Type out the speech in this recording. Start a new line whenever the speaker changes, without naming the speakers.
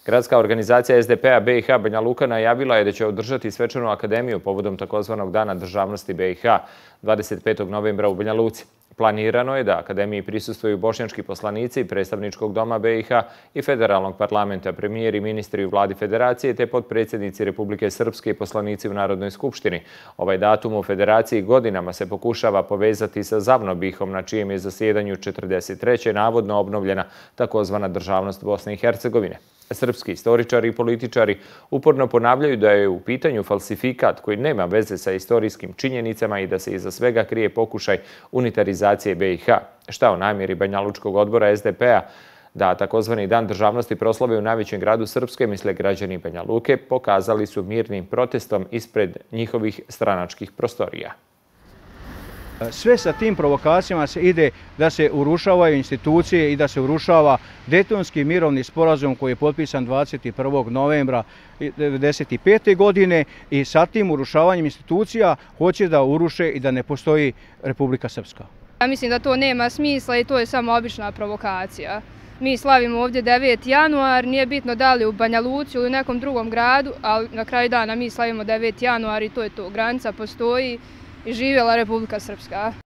Gradska organizacija SDP-a BiH Banja Luka najavila je da će održati svečanu akademiju povodom takozvanog Dana državnosti BiH 25. novembra u Banja Luci. Planirano je da akademiji prisustvuju bošnjački poslanici predstavničkog doma BiH i federalnog parlamenta, premijer i ministri u vladi federacije te potpredsjednici Republike Srpske i poslanici u Narodnoj skupštini. Ovaj datum u federaciji godinama se pokušava povezati sa Zavnobihom, na čijem je zasjedanju 43. navodno obnovljena takozvana državnost Bosne i Hercegovine. Srpski istoričari i političari uporno ponavljaju da je u pitanju falsifikat koji nema veze sa istorijskim činjenicama i da se iza svega krije pokušaj unitarizacije BiH. Šta o namjeri Banjalučkog odbora SDP-a da takozvani Dan državnosti proslave u najvećem gradu Srpske, misle građani Banja Luke, pokazali su mirnim protestom ispred njihovih stranačkih prostorija.
Sve sa tim provokacijama se ide da se urušavaju institucije i da se urušava Dejtonski mirovni sporazum koji je potpisan 21. novembra 1995. godine i sa tim urušavanjem institucija hoće da uruše i da ne postoji Republika Srpska.
Ja mislim da to nema smisla i to je samo obična provokacija. Mi slavimo ovdje 9. januar, nije bitno da li u Banja Luci ili u nekom drugom gradu, ali na kraju dana mi slavimo 9. januar i to je to. Granica postoji i živjela Republika Srpska.